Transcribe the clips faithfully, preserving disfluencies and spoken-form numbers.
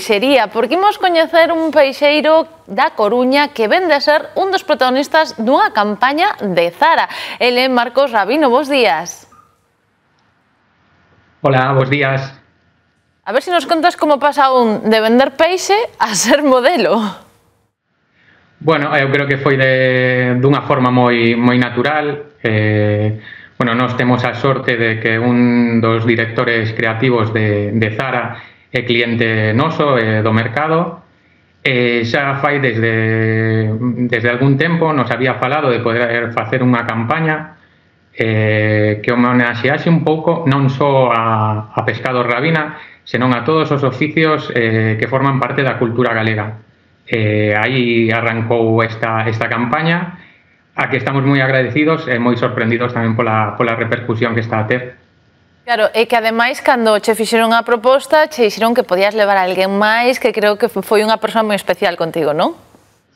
peixería, porque imos coñecer un peixeiro da Coruña que vende a ser un dos protagonistas dunha campaña de Zara. Ele é Marcos Rabino, bos días. Hola, bos días. A ver se nos contas como pasa un de vender peixe a ser modelo. Bueno, eu creo que foi de, dunha forma moi, moi natural. Eh, bueno, nós temos a sorte de que un dos directores creativos de, de Zara é cliente noso, eh, do mercado. Eh, xa fai desde, desde algún tempo nos había falado de poder facer unha campaña eh, que homenaxease un pouco non só a, a Pescados Rabina, senón a todos os oficios eh, que forman parte da cultura galega. Eh, aí arrancou esta, esta campaña, a que estamos moi agradecidos e moi sorprendidos tamén pola, pola repercusión que está a ter. Claro, e que ademais, cando che fixeron a proposta, che dixeron que podías levar a alguén máis, que creo que foi unha persoa moi especial contigo, non?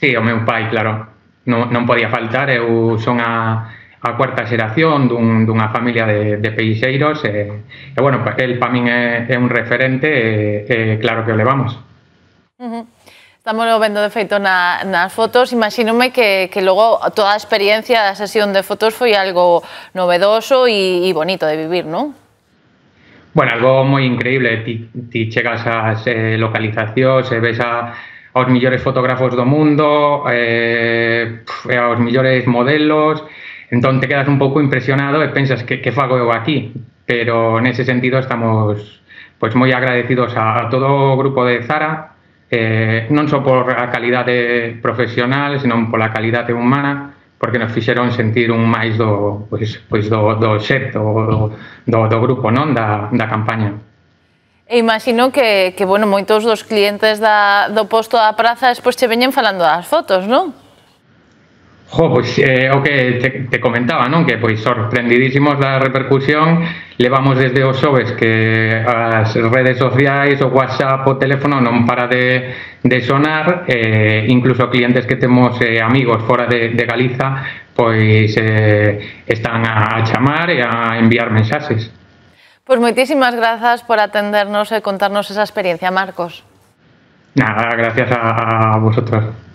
Sí, o meu pai, claro. Non, non podía faltar, eu son a, a cuarta xeración dun, dunha familia de, de peixeiros, e, e bueno, el para min é, é un referente, e, e claro que o levamos. Uh -huh. Estamos vendo de feito na, nas fotos, imagínome que, que logo toda a experiencia da sesión de fotos foi algo novedoso e, e bonito de vivir, non? Bueno, algo moi increíble, ti, ti chegas ás eh, localizacións e ves a, aos millores fotógrafos do mundo, eh, aos millores modelos, entón te quedas un pouco impresionado e pensas que, que fago eu aquí, pero nese sentido estamos pois moi agradecidos a, a todo o grupo de Zara, eh, non só por a calidade profesional, senón pola calidade humana, porque nos fixeron sentir un máis do, pois, pois do, do xeto, do, do, do grupo, non? Da, da campaña. E imagino que, que bueno, moitos dos clientes da, do posto da praza despois che veñen falando das fotos, non? Jo, pois eh, o que te, te comentaba, non? Que pois sorprendidísimos da repercusión, levamos desde os xoves que as redes sociais, o WhatsApp, o teléfono non para de, de sonar, eh, incluso clientes que temos eh, amigos fora de, de Galiza, pois eh, están a, a chamar e a enviar mensaxes. Pois moitísimas grazas por atendernos e contarnos esa experiencia, Marcos. Nada, gracias a, a vosotros.